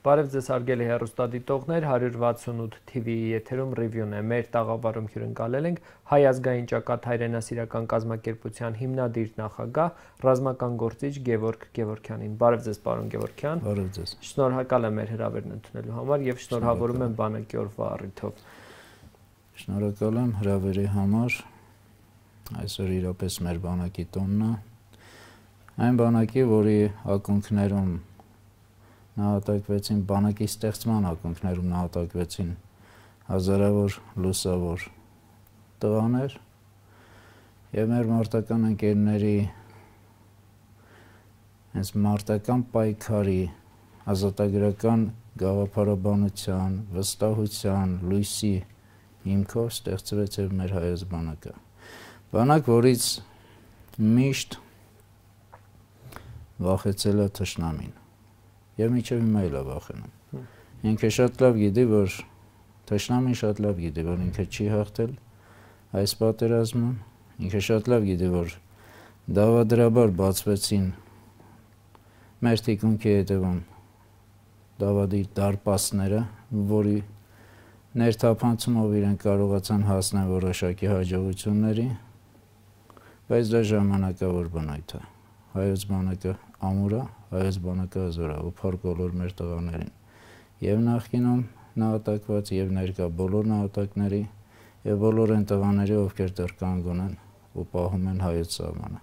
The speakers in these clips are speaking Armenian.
Բարև ձեզ հարգելի հեռուստադիտողներ, 168 TV-ի եթերում ռիվյուն է։ Մեր տաղավարում հյուրընկալել ենք Հայ ազգային ճակատ հայրենասիրական կազմակերպության հիմնադիր նախագահ, ռազմական գործիչ Գևորգ Գևորգյանին։ Բարև ձեզ, պարոն Գևորգյան։ Բարև ձեզ։ Շնորհակալ եմ մեր հրավերն ընդունելու համար եւ շնորհավորում եմ բանակի օրվա առիթով։ Շնորհակալ եմ հրավերի համար։ Այսօր իրապես մեր բանակի տոնն է։ Այն բանակի, որի ակունքներում նահատակվեցին, բանակի ստեղծման ակունքներում նահատակվեցին հազարավոր լուսավոր տղաներ եւ մեր մարտական ընկերների հենց մարտական պայքարի ազատագրական գաղափարաբանության, վստահության, լույսի հիմքով ստեղծվեց եւ մեր հայոց բանակը։ Բանակ, որից միշտ վախեցել է թշնամին։ Եվ մինչև հիմա էլ է վախենում։ Ինքը շատ լավ գիտի, որ թշնամին շատ լավ գիտի, որ ինքը չի հաղթել այս պատերազմում, ինքը շատ լավ գիտի, որ դավադրաբար բացվեցին մեր թիկունքի հետևում դավադիր դարպասները, որի ներթափանցումով իրենք կարողացան հասնել որոշակի հաջողությունների, բայց դա ժամանակավոր բնույթ է։ Հայոց բանակը ամուր է, հայոց բանակը հզոր է, ու փառք բոլոր մեր տղաներին, եւ նախկինում նահատակված, եւ ներկա բոլոր նահատակների, եւ բոլոր այն տղաների, ովքեր դեռ կանգուն են ու պահում են հայոց սահմանը։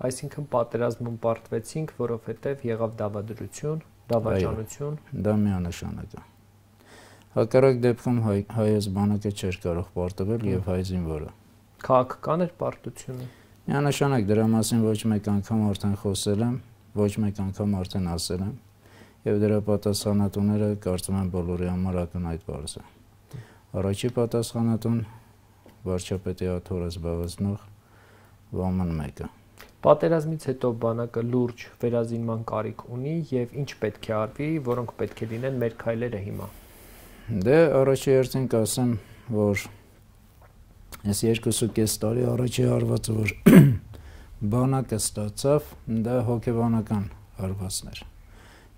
Այսինքն պատերազմում պարտվեցինք, որովհետեւ եղավ դավադրություն, դավաճանություն։ Դա միանշանակ է։ Հակառակ դեպքում հայոց բանակը չէր կարող պարտվել եւ հայ զինվորը։ Քաղաքական էր պարտությունը։ Միանշանակ դրա մասին ոչ մեկ անգամ արդեն խոսել եմ, ոչ մեկ անգամ արդեն ասել եմ, եւ դրա պատասխանատուները կարծում եմ բոլորի համար ակնհայտ բարձ է։ Առաջի պատասխանատուն վարչապետի աթոռը զբաղեցնող Վաման 1-ը։ Պատերազմից հետո բանակը լուրջ վերազինման կարիք ունի եւ ինչ պետք է արվի, որոնք պետք է լինեն մեր քայլերը հիմա։ Դե առաջի հերթին կասեմ, որ այս 2.5 տարի առաջի հարվածը, որ բանակը ստացավ, դա հոգեբանական հարվածներ։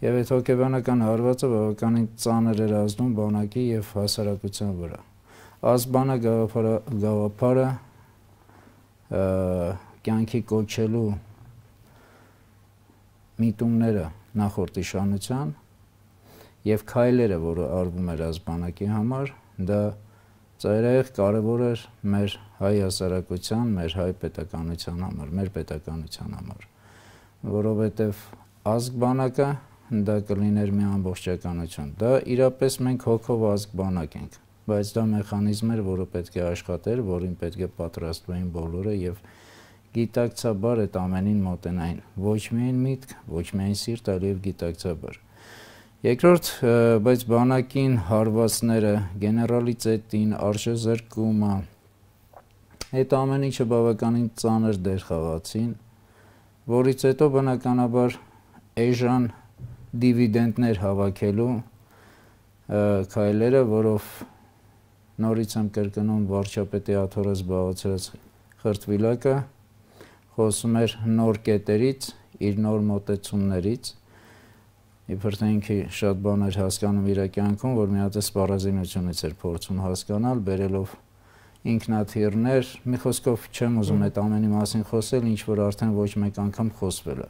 Եվ այդ հոգեբանական հարվածը բավականին ծանր էր ազդում բանակի եւ հասարակության վրա։ Ազգբանա գաղափարը կյանքի կոչելու միտումները նախորդ իշխանության եւ քայլերը, որը արվում էր ազգբանակի համար, դա ծայրահեղ կարևոր էր մեր հայ հասարակության, մեր հայ պետականության համար, մեր պետականության համար, որովհետև ազգբանակը դա կլիներ մի ամբողջականություն։ Դա իրապես մենք հոգով ազգբանակ ենք, բայց դա մեխանիզմ էր, որը պետք է աշխատեր, որին պետք է պատրաստվեին բոլորը եւ գիտակցաբար այդ ամենին մոտենային։ Ոչ միայն միտք, ոչ միայն սիրտ, այլև գիտակցաբար։ Երկրորդ, բայց բանակին հարվածները, գեներալիտետին, արժեզրկումը, այդ ամեն ինչը բավականին ծանր դեր խաղացին, որից հետո բնականաբար էժան դիվիդենտներ հավաքելու քայլերը, որով նորից եմ կրկնում վարչապետի աթոռը զբաղեցրած Խրտվիլակը, խոսում էր նոր կետերից, իր նոր մոտեցումներից, իբր թե ինքը շատ բաներ հասկանում իր կյանքում, որ մի հատ սպառազինությունից էր փորձում հասկանալ, բերելով ինքնաթիռներ, մի խոսքով չեմ ուզում այդ ամենի մասին խոսել, ինչ որ արդեն ոչ մեկ անգամ խոսվել է։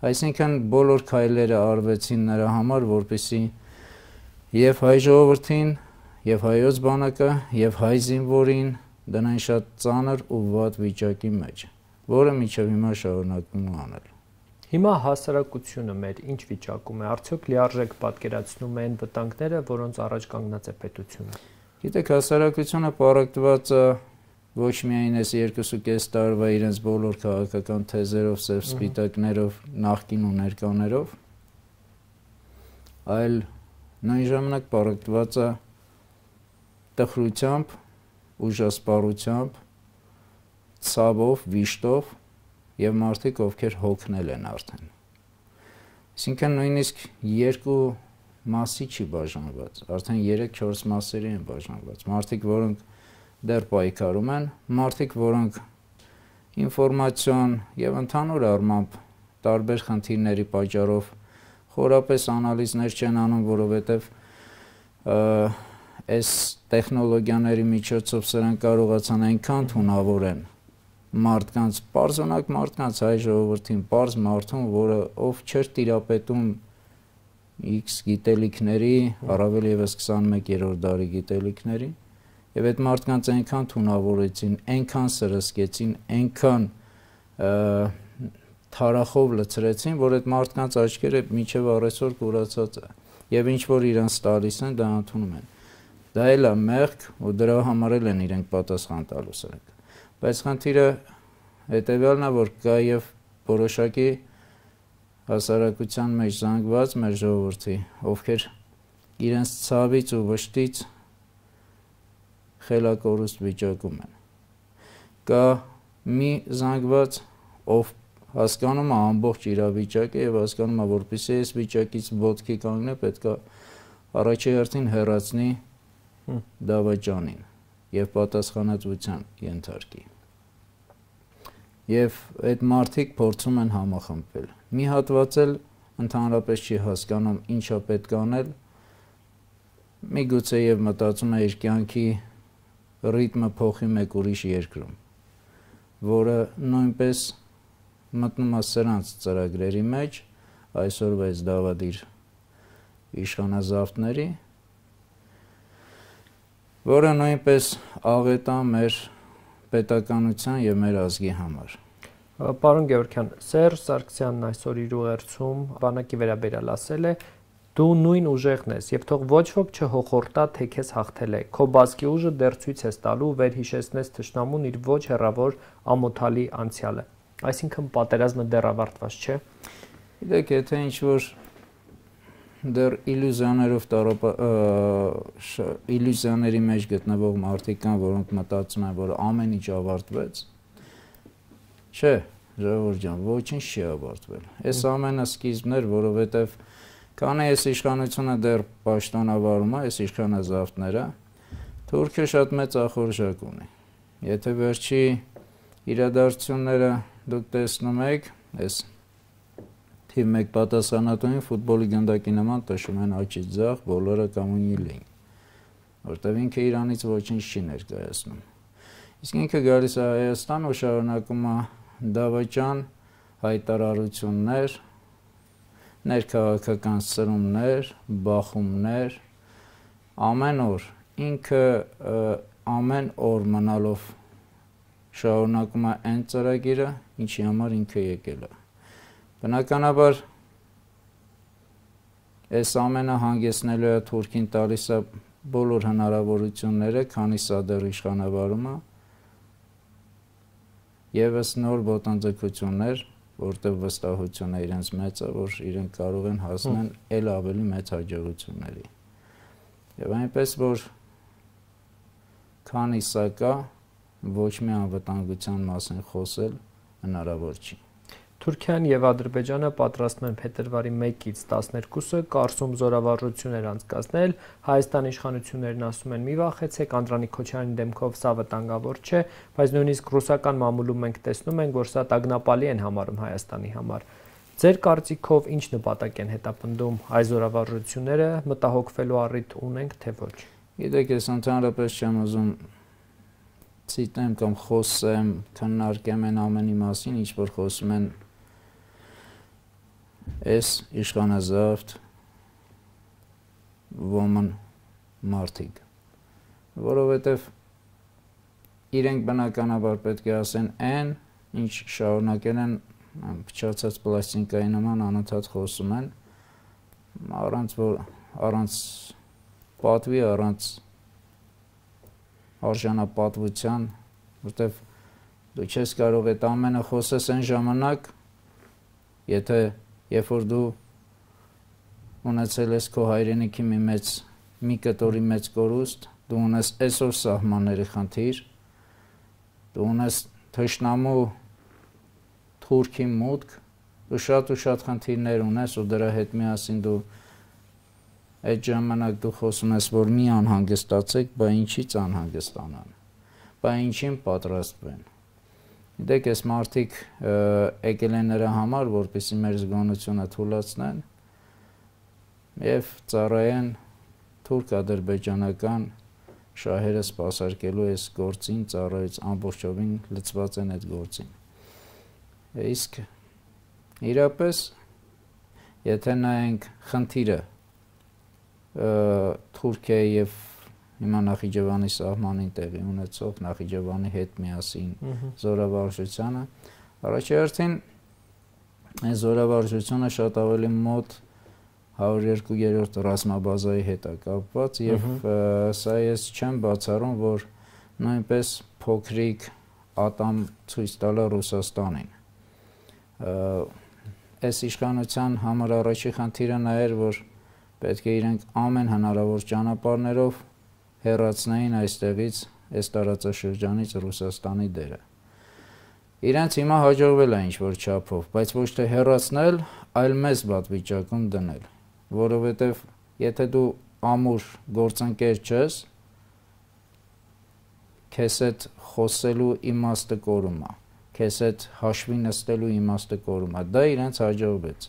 Այսինքն բոլոր քայլերը արվեցին նրա համար, որպեսզի եւ հայ ժողովրդին, եւ հայոց բանակը, եւ հայ զինվորին դնային շատ ծանր ու վատ վիճակի մեջ, որը մինչև հիմա շարունակվում է անել։ Հիմա հասարակությունը մեր ինչ վիճակում է, արդյոք լիարժեք պատկերացնում է այն վտանգները, որոնց առաջ կանգնած է պետությունը։ Գիտեք, հասարակությունը պարակտված է ոչ միայն այս 2.5 տարվա իրենց բոլոր քաղաքական թեզերով, սև սպիտակներով, նախկին ու ներկաներով, այլ նույն ժամանակ պարակտված է տխրությամբ, ուժասպառությամբ, ցավով, վիշտով եւ մարդիկ, ովքեր հոգնել են արդեն։ Այսինքն նույնիսկ երկու մասի չի բաժանված, արդեն 3-4 մասերի են բաժանված։ Մարդիկ, որոնք դեռ պայքարում են, մարդիկ, որոնք ինֆորմացիոն եւ ընդհանուր առմամբ տարբեր խնդիրների պատճառով խորապես անալիզներ չեն անում, որովհետև այս տեխնոլոգիաների միջոցով սրանք կարողացան այնքան թունավորեն մարդկանց, պարզոնակ մարդկանց, հայ ժողովրդին, պարզ մարդուն, որը ով չէր տիրապետում X գիտելիքների, առավել ևս 21-րդ դարի գիտելիքների, եւ այդ մարդկանց այնքան թունավորեցին, այնքան սրսկեցին, այնքան թարախով լցրեցին, որ այդ մարդկանց աչքերը մինչև առեսօր կուրացած է, եւ ինչ որ իրանց տալիս են, դա ընդունում են։ Դա էլ է մեղք, ու դրա համար են իրենք պատասխան տալու սրանք։ Բայց խնդիրը հետեւյալն է, որ կա եւ որոշակի հասարակության մեջ զանգված մեր ժողովրդի, ովքեր իրենց ցավից ու վշտից խելակորուստ վիճակում են։ Կա մի զանգված, ով հասկանում է ամբողջ իրավիճակը եւ հասկանում է, որպեսզի այս վիճակից ոտքի կանգնի, պետք է առաջի հերթին հեռացնի դավաճանին եւ պատասխանատվության ենթարկի։ Եվ այդ մարդիկ փորձում են համախմբվել։ Մի հատված էլ ընդհանրապես չի հասկանում ինչա պետք անել, միգուցե եւ մտածում է իր կյանքի ռիթմը փոխի մեկ ուրիշ երկրում, որը նույնպես մտնում է սրանց ծրագրերի մեջ, այսօրվա այս դավադիր իշխանազավթների, որը նույնպես աղետ է մեր պետականության եւ մեր ազգի համար։ Պարոն Գևորգյան, Սերժ Սարգսյանն այսօր իր ուղերձում բանակի վերաբերյալ ասել է. «Դու նույն ուժեղն ես եւ թող ոչ ոք չհոխորտա, թե քեզ հաղթել է։ Քո բազկի ուժը դեռ ցույց ես տալու, վերհիշեցնես թշնամուն իր ոչ հեռավոր ամոթալի անցյալը»։ Այսինքն պատերազմը դեռ ավարտված չէ։ Գիտեք, եթե ինչ-որ դեռ իլյուզիաների մեջ գտնվող մարդիկ կան, որոնք մտածում են, որ ամեն ինչ ավարտվեց, չէ, ժողովուրդ ջան, ոչինչ չի ավարտվել։ Այս ամենը սկիզբն էր, որովհետև քանի այս իշխանությունը դեռ պաշտոնավարում է, այս իշխանազավթները, Թուրքիը շատ մեծ ախորժակ ունի։ Եթե վերջի իրադարձությունները դուք տեսնում եք, այս թիվ 1 պատասխանատուին ֆուտբոլի գնդակի նման տշում են աչից ձախ, բոլորը կամունի լին, որտեղ ինքը Իրանից ոչինչ չի ներկայացնում։ Իսկ ինքը գալիս է Հայաստան ու շարունակում է դավաճան հայտարարություններ, ներքաղաքական սրումներ, բախումներ, ամեն օր ինքը ամեն օր մնալով շարունակում է այն ծրագիրը, ինչի համար ինքը եկել է։ Բնականաբար այս ամենը հանգեցնելու է Թուրքին տալիս է բոլոր հնարավորությունները, քանի սա դեռ իշխանավարում է, եւս նոր ոտնձգություններ, որտեղ վստահությունը իրենց մեծ է, որ իրենք կարող են հասնել ել ավելի մեծ հաջողությունների։ Եվ այնպես որ քանի սա կա, ոչ մի անվտանգության մասին խոսել հնարավոր չի։ Թուրքիան եւ Ադրբեջանը պատրաստվում են փետրվարի 1-ից 12-ը Կարսում զորավարժություններ անցկացնել։ Հայաստանի իշխանություններն ասում են՝ մի վախեցեք, Անդրանիկ Քոչարյանի դեմքով սա վտանգավոր չէ, բայց նույնիսկ ռուսական մամուլում մենք տեսնում ենք, որ սա տագնապալի են համարում Հայաստանի համար։ Ձեր կարծիքով ինչ նպատակ են հետապնդում այս զորավարժությունները, մտահոգվելու առիթ ունենք, թե ոչ։ Գիտեք, ես ընդհանրապես չեմ ուզում ցիտեմ կամ խոսեմ, քննարկեմ այն ամենի մասին, ինչ որ խոսում են այս իշխանազավթ ոմն մարդիկ, որովհետև իրենք բնականաբար պետք է ասեն այն, ինչ շարունակել են փչացած պլաստիկայի նման անընդհատ խոսում են, առանց պատվի, առանց արժանապատվության, որտեվ դու չես կարող այդ ամենը խոսես այն ժամանակ, եթե երբ որ դու ունեցել ես քո հայրենիքի մի կտորի մեծ կորուստ, դու ունես այսօր սահմանների խնդիր, դու ունես թշնամու Թուրքի մուտք, դու շատ խնդիրներ ունես ու դրա հետ միասին դու այդ ժամանակ դու խոսում ես, որ մի անհանգստացեք, բա ինչից անհանգստանան, բա ինչին պատրաստվեն։ Գիտեք, այս մարդիկ եկել են նրա համար, որպեսզի մեր զգոնությունը թուլացնեն, եւ ծառայեն թուրք-ադրբեջանական շահերը սպասարկելու այս գործին ծառայից ամբողջովին լծված են այդ գործին։ Իսկ իրապես եթե նայենք խնդիրը Թուրքիայի եւ հիմա Նախիջևանի սահմանին տեղի ունեցող Նախիջևանի հետ միասին զորավարժությանը, առաջին այս զորավարժությունը շատ ավելի մոտ 102-րդ ռազմաբազայի հետ է կապված եւ սա ես չեմ բացառում, որ նույնպես փոքրիկ ատամ ցույց տալը Ռուսաստանին։ Այս իշխանության համար առաջի խնդիրը նա էր, որ պետք է իրենք ամեն հնարավոր ճանապարհներով հեռացնեին այստեղից, այս տարածաշրջանից Ռուսաստանի դերը։ Իրենց հիմա հաջողվել է ինչ-որ չափով, բայց ոչ թե հեռացնել, այլ մեծ պատվիճակում դնել, որովհետև եթե դու ամուր գործընկեր չես, քեզ հետ խոսելու իմաստը կորում է, քեզ հետ հաշվի նստելու իմաստը կորում է, դա իրենց հաջողվեց։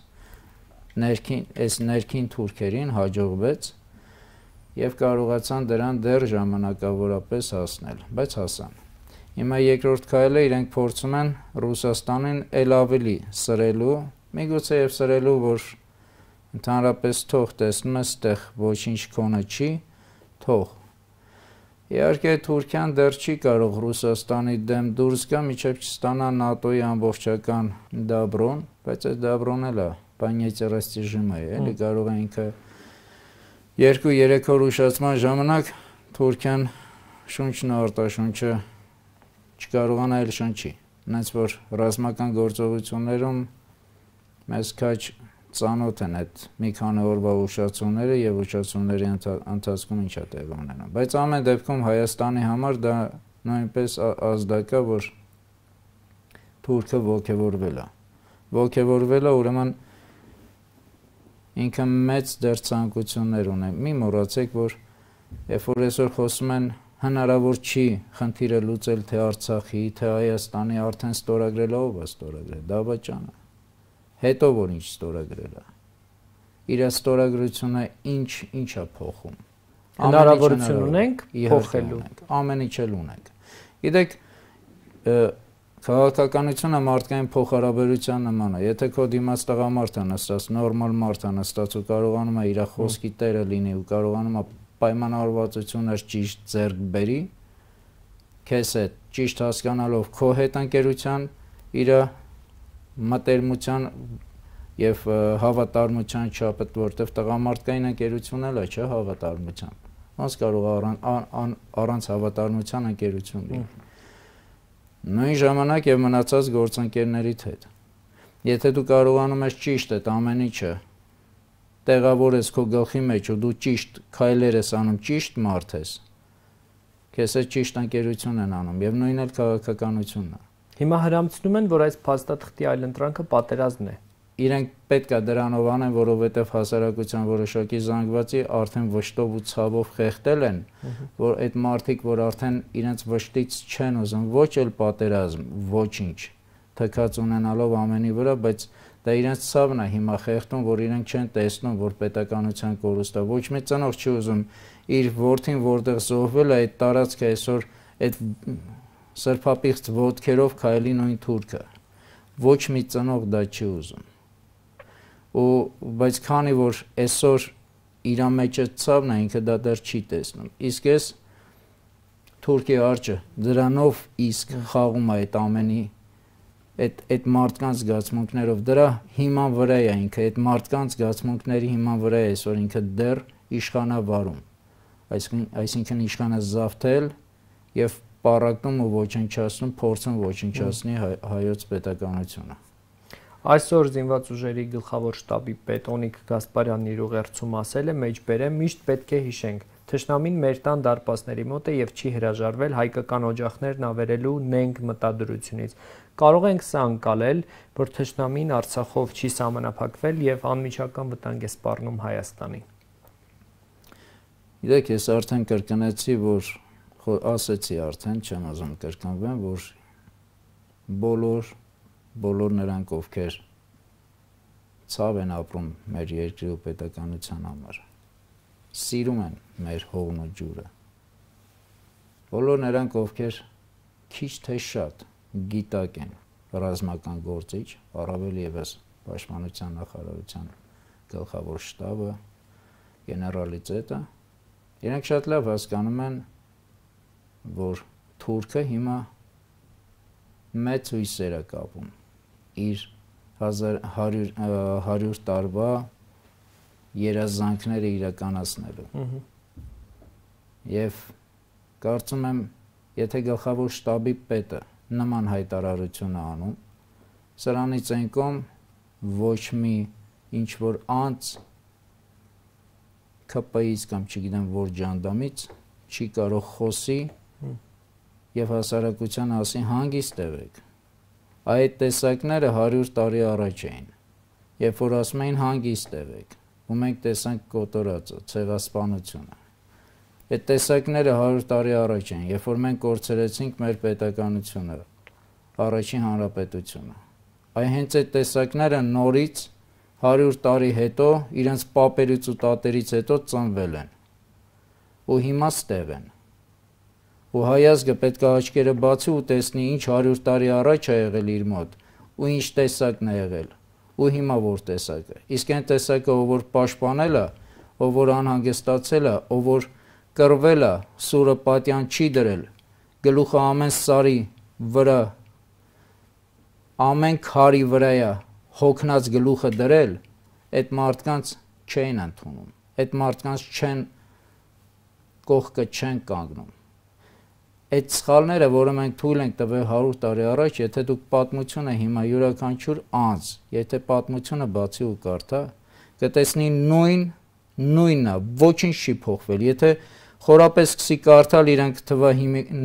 Այս ներքին թուրքերին հաջողվեց եւ կարողացան դրան դեռ ժամանակավորապես հասնել, բայց հասան։ Հիմա երկրորդ քայլը իրենք փորձում են Ռուսաստանին ել ավելի սրելու, միգուցե եւ սրելու, որ ընդհանրապես թող տեսնում ես, այդտեղ ոչինչ քոնը չի, թող։ Իհարկե Թուրքիան դեռ չի կարող Ռուսաստանի դեմ դուրս գա, մինչև չստանա ՆԱՏՕ-ի ամբողջական դաբրոն, բայց այդ դաբրոն էլ է բանյացի ռեժիմը է, էլի կարող է ինքը 2-3 օր ուշացման ժամանակ Թուրքիան շունչն արտաշունչը չկարողանա էլ շնչի։ Նենց որ ռազմական գործողություններում մեզ քաջ ծանոթ են այդ մի քանի օրվա ուշացումները եւ ուշացումների ընթացքում ինչ է տեղի ունենում։ Բայց ամեն դեպքում Հայաստանի համար դա նույնպես ազդակա, որ Թուրքը ոգևորվել է։ Ոգևորվել է, ուրեմն ինքը մեծ դեռ ցանկություններ ունի։ Մի մոռացեք, որ երբ որ այսօր խոսում են հնարավոր չի խնդիրը լուծել թե Արցախի, թե Հայաստանի, արդեն ստորագրել ով է ստորագրել, Դավաճանը։ Հետո որ ինչ ստորագրել է։ Իր ստորագրությունը ինչ է փոխում։ Հնարավորություն ունենք փոխելու։ Ամեն ինչ էլ ունենք։ Գիտեք, քաղաքականությունը մարդկային փոխհարաբերության նման է։ Եթե քո դիմաց տղամարդը նստած, նորմալ մարդը նստած ու կարողանում է իր խոսքի տերը լինի ու կարողանում է պայմանավորվածություններ ճիշտ ձեռք բերի, քեզ հետ ճիշտ հասկանալով քո հետ ընկերության իր մտերմության եւ հավատարմության չափը, որտեվ տղամարդկային ընկերություն էլ է, չէ, հավատարմության։ Ոնց կարող առանց հավատարմության ընկերություն լինի։ Նույն ժամանակ եւ մնացած գործընկերներիդ հետ։ Եթե դու կարողանում ես ճիշտ այդ ամեն ինչը տեղավորես քո գլխի մեջ ու դու ճիշտ քայլեր ես անում, ճիշտ մարդ ես, քեզ հետ ճիշտ ընկերություն են անում եւ նույնն էլ քաղաքականությունն է։ Հիմա հրամցնում են, որ այս փաստաթղթի այլընտրանքը պատերազմն է։ Իրենք պետք է դրանով անեն, որովհետև հասարակության որոշակի զանգվածի արդեն վշտով ու ցավով խեղդել են, որ այդ մարդիկ, որ արդեն իրենց վշտից չեն ուզում ոչ էլ պատերազմ, ոչինչ, թքած ունենալով ամենի վրա, բայց դա իրենց ցավն է հիմա խեղդում, որ իրենք չեն տեսնում, որ պետականության կորուստը ոչ մի ծնող չի ուզում իր որդին, որտեղ զոհվել է, այդ տարածքը այսօր այդ սրբապիղծ ոտքերով քայլի նույն թուրքը։ Ոչ մի ծնող դա չի ուզում։ Բայց քանի որ այսօր իր մեջը ցավն է, ինքը դա դեռ չի տեսնում։ Իսկ այս Թուրքի արջը դրանով իսկ խաղում է այդ ամենի այդ մարդկանց զգացմունքներով, դրա հիման վրա է ինքը, այդ մարդկանց զգացմունքների հիման վրա է այսօր ինքը դեռ իշխանավարում։ Այսինքն իշխանը զավթել եւ պարակնում ու ոչնչացնում, փորձում ոչնչացնի հայոց պետականությունը։ Այսօր զինված ուժերի գլխավոր շտաբի պետ Օնիկ Գասպարյանն իր ուղերձում ասել է, մեջբերեմ միշտ պետք է հիշենք, թշնամին մեր տան դարպասների մոտ է եւ չի հրաժարվել հայկական օջախներն ավերելու նենգ մտադրությունից։ Կարող ենք սա անցալել, որ թշնամին Արցախով չի սահմանափակվել եւ անմիջական վտանգ է սպառնում Հայաստանին։ Գիտեք, ես արդեն կրկնեցի, որ ասեցի արդեն, չեմ ուզում կրկնվեմ, որ բոլոր նրանք, ովքեր ցավ են ապրում մեր երկրի ու պետականության համար։ Սիրում են մեր հողն ու ջուրը։ Բոլոր նրանք, ովքեր քիչ թե շատ գիտակ են ռազմական գործիչ, առավել ևս Պաշտպանության նախարարության գլխավոր շտաբը, գեներալիտետը, իրենք շատ լավ հասկանում են, որ թուրքը հիմա մեծ հույսեր է կապում իր 100 տարվա երազանքները իրականացնելու։ Եվ կարծում եմ, եթե գլխավոր շտաբի պետը նման հայտարարություն է անում, սրանից այն կողմ ոչ մի ինչ որ անձ ԿՊ-ից կամ չգիտեմ որ ջանդամից չի կարող խոսի եւ հասարակության ասի հանգիստ եղեք։ Այդ տեսակները 100 տարի առաջ էին, երբ որ ասում էին հանգիստ եղեք, ու մենք տեսանք կոտորածը, ցեղասպանությունը։ Այդ տեսակները 100 տարի առաջ են, երբ որ մենք կորցրեցինք մեր պետականությունը, առաջին հանրապետությունը։ Այ հենց այդ տեսակները նորից 100 տարի հետո իրենց պապերից ու տատերից հետո ծնվել են։ Ու հիմա ստեղ են։ Ու հայազգը պետք է աչքերը բացի ու տեսնի ինչ 100 տարի առաջ է եղել իր մոտ, ու ինչ տեսակն է եղել, ու հիմա որ տեսակ է։ Իսկ այն տեսակը, ով որ պաշտպանել է, ով որ անհանգստացել է, ով որ կռվել է, սուրը պատյան չի դրել, գլուխը ամեն սարի վրա, ամեն քարի վրա է հոգնած գլուխը դրել, այդ մարդկանց չեն ընդունում, այդ մարդկանց չեն կողքը չեն կանգնում։ Այդ սխալները, որը մենք թույլ ենք տվել 100 տարի առաջ, եթե դուք պատմությունը հիմա յուրաքանչյուր անձ, եթե պատմությունը բացի ու կարդա, կտեսնի նույնն է, ոչինչ չի փոխվել։ Եթե խորապես սկսի կարդալ, իրենք թվա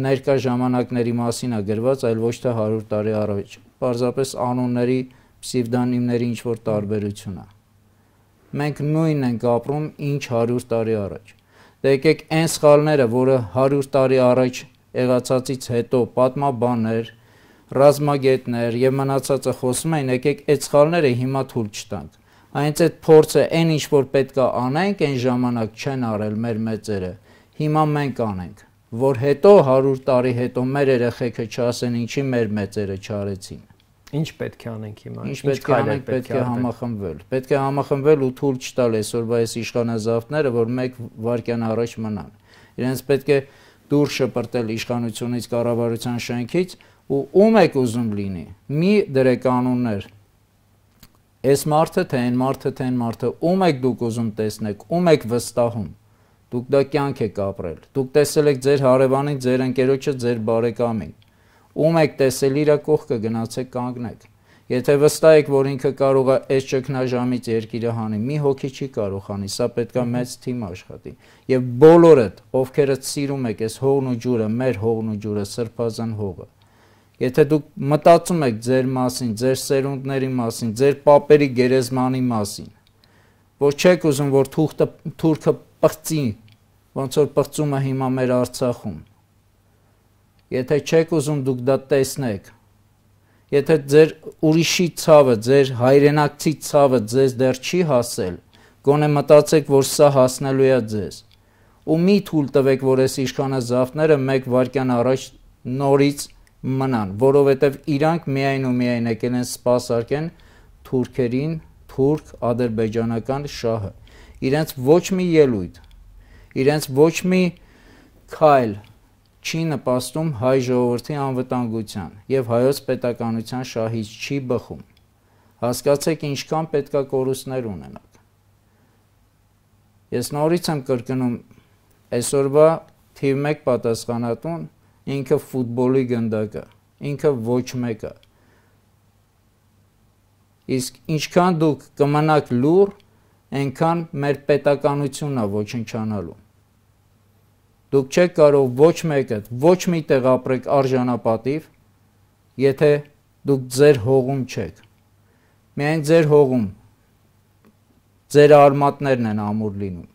ներկա ժամանակների մասին է գրված, այլ ոչ թե 100 տարի առաջ։ Պարզապես անունների, պսևդոնիմների ինչ որ տարբերություն է։ Մենք նույնն ենք ապրում, ինչ 100 տարի առաջ։ Դե եկեք այն սխալները, որը 100 տարի առաջ եղածից հետո պատմաբաններ, ռազմագետներ եւ մնացածը խոսում են, եկեք այդ սխալները հիմա թույլ չտանք։ Այնց այդ փորձը այն ինչ որ պետքա անենք, այն ժամանակ չեն արել մեր մեծերը, հիմա մենք անենք, որ հետո 100 տարի հետո մեր երեխեքը չասեն ինչի մեր մեծերը չարեցին։ Ինչ պետք է անենք հիմա։ Ինչ պետք է անենք, պետք է համախմբվել։ Պետք է համախմբվել ու թույլ չտալ այսօրվա այս իշխանազավթները, որ մեկ վայրկյան առաջ մնան։ Իրենց պետք է դուր շպրտել իշխանությունից, կառավարության շենքից ու ում եք ուզում լինի։ Մի դրեք անուններ։ Այս մարդը թե այն մարդը թե այն մարդը, ում եք դուք ուզում տեսնեք, ում եք վստահում։ Դուք դա կյանք եք ապրել։ Դուք տեսել եք ձեր հարևանին, ձեր ընկերոջը, ձեր բարեկամին։ Ում եք տեսել իր կողքը գնացեք կանգնեք։ Եթե վստահ եք, որ ինքը կարող է այս ճգնաժամից երկիրը հանի, մի հոգի չի կարող հանի, սա պետքա մեծ թիմ աշխատի։ Եվ բոլորդ, ովքերդ սիրում եք այս հողն ու ջուրը, մեր հողն ու ջուրը, սրբազան հողը, եթե դուք մտածում եք ձեր մասին, ձեր սերունդների մասին, ձեր պապերի գերեզմանի մասին, որ չեք ուզում, որ թուրքը պղծի, ոնց որ պղծում է հիմա մեր Արցախում, եթե չեք ուզում դուք դա տեսնեք, եթե ձեր ուրիշի ցավը, ձեր հայրենակցի ցավը ձեզ դեռ չի հասել, գոնե մտածեք, որ սա հասնելու է ձեզ։ Ու մի թույլ տվեք, որ այս իշխանազավթները մեկ վայրկյան առաջ նորից մնան, որովհետև իրանք միայն ու միայն եկել են սպասարկեն թուրքերին, թուրք-ադրբեջանական շահը։ Իրենց ոչ մի ելույթ, իրենց ոչ մի քայլ չի նպաստում հայ ժողովրդի անվտանգության եւ հայոց պետականության շահից չի բխում։ Հասկացեք ինչքան պետքա կորուստներ ունենաք։ Ես նորից եմ կրկնում, այսօրվա թիվ 1 պատասխանատուն ինքը ֆուտբոլի գնդակը, ինքը ոչ մեկը։ Իսկ ինչքան դուք կմնաք լուր, այնքան մեր պետականությունն է ոչնչանալու։ Դուք չեք կարող ոչ մեկը, ոչ մի տեղ ապրեք արժանապատիվ, եթե դուք ձեր հողում չեք։ Միայն ձեր հողում ձեր արմատներն են ամուր լինում։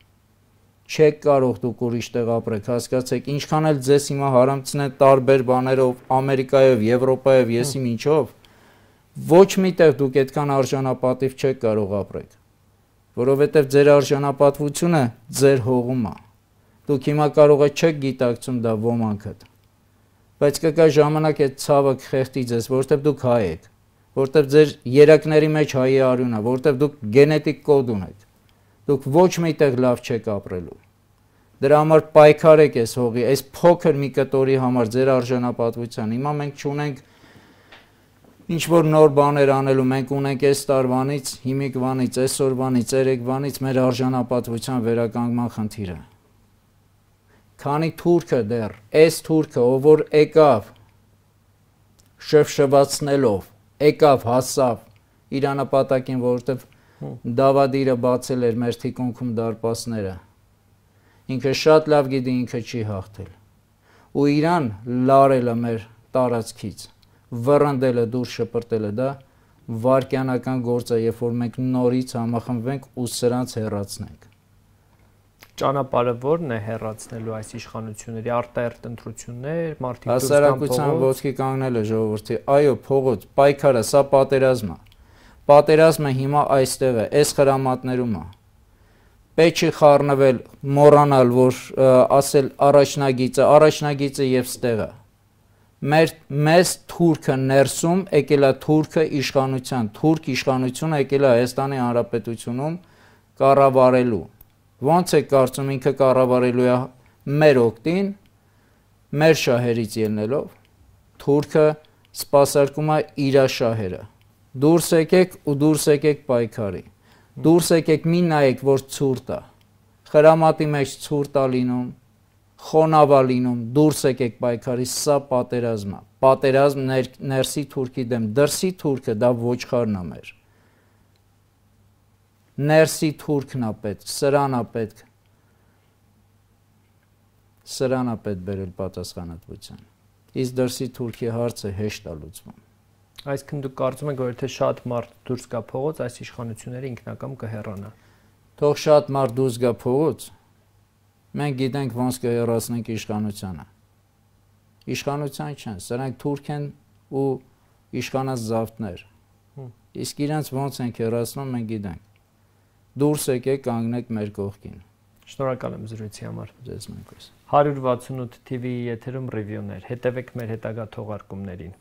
Չեք կարող դուք ուրիշ տեղ ապրեք, հասկացեք, ինչքան էլ ձեզ հիմա հարամցնեն տարբեր բաներով, Ամերիկայով, Եվրոպայով, եսի ինչով, Ոչ միտեղ դուք այդքան արժանապատիվ չեք կարող ապրեք, որովհետև ձեր արժանապատվությունը ձեր հողում է։ Դուք հիմա կարող եք չեք գիտակցում դա ոմանքդ, բայց կգա ժամանակ այդ ցավը կխեղդի ձեզ, որովհետև դուք հայ եք, որովհետև ձեր երակների մեջ հայի արյուն է, որովհետև դուք գենետիկ կոդ ունեք, դուք ոչ միտեղ լավ չեք ապրելու։ Դրա համար պայքարեք այս հողի, այս փոքր մի կտորի համար ձեր արժանապատվության։ Հիմա մենք չունենք ինչ որ նոր բաներ անելու, մենք ունենք այս տարվանից, հիմիկվանից, այսօրվանից, երեկվանից մեր արժանապատվության վերականգնման խնդիրը։ Քանի թուրքը դեռ, այս թուրքը, ով որ եկավ շվշվացնելով, եկավ հասավ իր նպատակին, որովհետև Դավադիրը բացել էր մեր թիկունքում դարպասները։ Ինքը շատ լավ գիտի ինքը չի հաղթել։ Ու իրան լարելը մեր տարածքից, վռնդելը դուրս շպրտելը դա վարկյանական գործ է, երբ որ մենք նորից համախմբվենք ու սրանց հեռացնենք։ Ճանապարհը ո՞րն է հեռացնելու այս իշխանությունների արտահերթ ընտրություններ, մարդիկ դուրս հասարակության ոտքի կանգնելը ժողովրդի, այո, փողոց, պայքարը, սա պատերազմ է։ Պատերազմը հիմա այստեղ է, այս խրամատներում է։ Պետք չի խառնվել, մոռանալ, որ ասել առաջնագիծը եւ ստեղը։ Մեզ թուրքը ներսում եկել է թուրքը իշխանության, թուրք իշխանությունը եկել է Հայաստանի Հանրապետությունում կառավարելու։ Ոնց է կարծում ինքը կառավարելու է մեր օգտին, մեր շահերից ելնելով, թուրքը սպասարկում է իր շահերը։ Դուրս եկեք ու դուրս եկեք պայքարի։ Դուրս եկեք մի նայեք, որ ցուրտ է։ Խրամատի մեջ ցուրտ է լինում, խոնավ է լինում, դուրս եկեք պայքարի, սա պատերազմ է։ Պատերազմ ներսի թուրքի դեմ, դրսի թուրքը դա ոչխարն է մեր։ Ներսի թուրքն է պետք, սրան է պետք։ Սրան է պետք բերել պատասխանատվության։ Իսկ դրսի թուրքի հարցը հեշտ է լուծվում։ Այսինքն դուք կարծում եք, որ եթե շատ մարդ դուրս գա փողոց, այս իշխանությունները ինքնակամ կհեռանա։ Թող շատ մարդ դուրս գա փողոց, մենք գիտենք ոնց կհեռացնենք իշխանությանը։ Իշխանության չեն, սրանք թուրք են ու իշխանած զավթներ։ Իսկ իրենց ոնց են հեռացնում, մենք գիտենք։ Դուրս եկեք, կանգնեք մեր կողքին։ Շնորհակալ եմ զրույցի համար։ Ձեզ նույնպես։ 168 TV-ի եթերում ռիվյուներ։ Հետևեք մեր հետագա թողարկումներին։